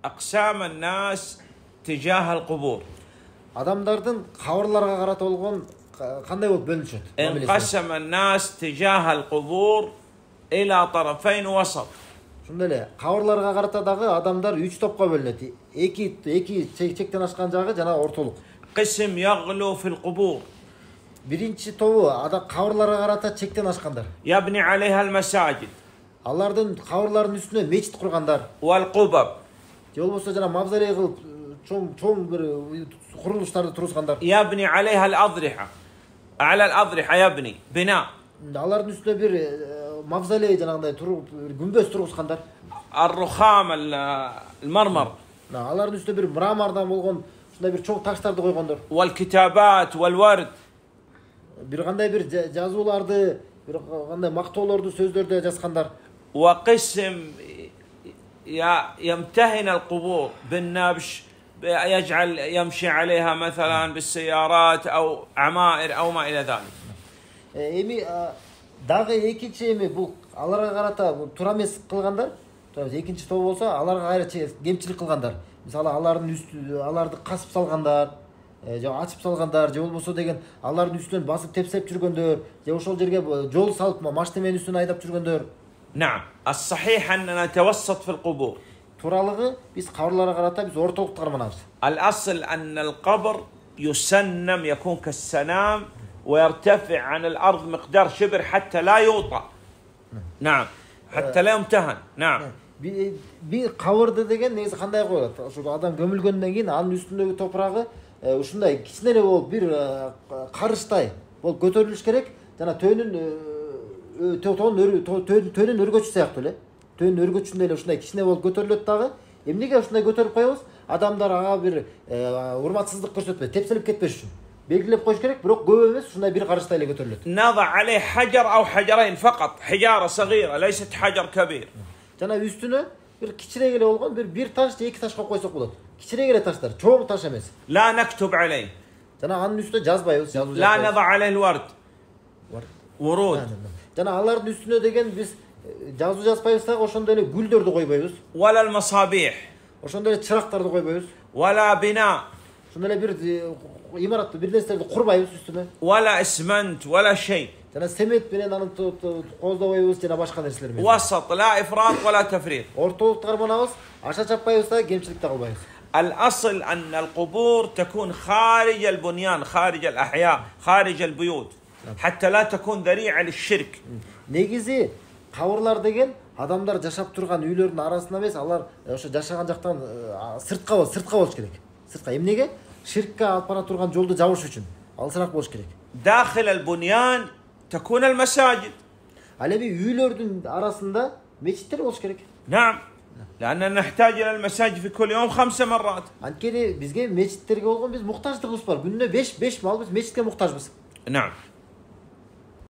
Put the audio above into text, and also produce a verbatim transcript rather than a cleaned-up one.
أقسام الناس تجاه القبور. Адамдардын кабырларга карата болгон кандай болуп бөлүнүшөт? انقسم الناس تجاه القبور إلى طرفين وسط. Ошондой эле кабырларга карата дагы адамдар үч топко бөлүнөт. Эки эки чектен ашкан жагы жана ортолук. قسم يغلو في القبور. Биринчи тобу ада кабырларга карата чектен ашкандар. يبني عليها المساجد. Алардын кабырларынын үстүнө мечит кургандар. والقبب. Же болбосо жана мавзолей кылып чоң чоң бир курулуштарды тургузгандар. يبني عليها الأضرحة. على الأضرحة يبني بناء. Алардын үстүнө бир мавзолей жанагындай туруп күмбөз тургузгандар. الرخام المرمر. Алардын үстүнө бир мрамордон болгон ушундай бир чоң таштарды койгондор. والكتابات والورد. Бир кандай бир жазууларды, бир кандай мактоолорду, сөздөрдү жазгандар. وقسم يمتهن القبور بالنبش يجعل يمشي عليها مثلا بالسيارات أو عمائر أو ما إلى ذلك. Эми дагы экинчи эми бул аларга карата туура эмес кылгандар. Экинчи топ болсо аларга кайра кемчилик кылгандар. Мисалы алардын үстү аларды касып салгандар, же ачып салгандар, же болбосо деген алардын үстүнөн басып тепсеп жүргөндөр, же ошол жерге жол салып машинеменин үстүнө айдап жүргөндөр. نعم الصحيح أننا نتوسط في القبور. Тууралыгы биз кабырларга карата биз ортолукту карманабыз. الأصل أن القبر يسنم يكون كالسنام ويرتفع عن الأرض مقدار شبر حتى لا يوطأ. نعم حتى لا يمتهن. نعم. Bir кабырды деген негизи кандай коёлот? Ошо адам көмүлгөндөн кийин анын үстүндөгү топурагы ушундай кичине эле болуп бир карыштай болуп көтөрүлүш керек. Жана төөнүн төөнүн өргөчү сыяктуу эле. Төөнүн өргөчүндөй эле ушундай кичине болуп көтөрүлөт дагы. Эмнеге ушундай көтөрүп коебуз? Адамдар ага бир урматсыздык көрсөтпөй, тепселип кетпеш үчүн. Белгилеп коюш керек, бирок көп эмес, ушундай бир карыштай эле көтөрүлөт. نضع عليه حجر أو حجرين فقط. حجارة صغيرة ليست حجر كبير. Жана үстүнө бир кичирээк эле болгон бир бир таш же эки ташка койсок болот. Кичирээк эле таштар, чоң таш эмес. لا نكتب عليه. Жана анын үстүнө жазбайбыз, жазуу لا نضع عليه الورد. ورود. Жана алардын үстүнө деген биз жазуу жазбайбыз дагы, ошондой эле гүлдөрдү койбойбуз. ولا المصابيح. Ошондой эле чырактарды койбойбуз. ولا بناء. Ошондой эле бир имаратты, бир нерселерди курбайбыз үстүнө. ولا اسمنت ولا شيء. Жана семет менен аны кооздобойбуз жана башка нерселер менен. وسط لا إفراط ولا تفريط. Ортолукту карманабыз, аша чаппайбыз да, кемчилик да кылбайбыз. الأصل أن القبور تكون خارج البنيان، خارج الأحياء، خارج البيوت، حتى لا تكون ذريعة للشرك. Негизи кабырлар деген адамдар жашап турган үйлөрдүн арасында эмес, алар ошо жашаган жактан сыртка болуш, сыртка болуш керек. Сыртка эмнеге? Ширкке алып бара турган жолду жабыш үчүн. Алысыраак болуш керек. داخل البنيان تكون المساجد. Ал эми үйлөрдүн арасында мечиттер болуш керек. نعم. لأننا نحتاج إلى المساجد في كل يوم خمس مرات. Анткени бизге мечиттерге болгон биз муктаждыгыбыз бар. Күнүнө беш беш мал биз мечитке муктажбыз. نعم.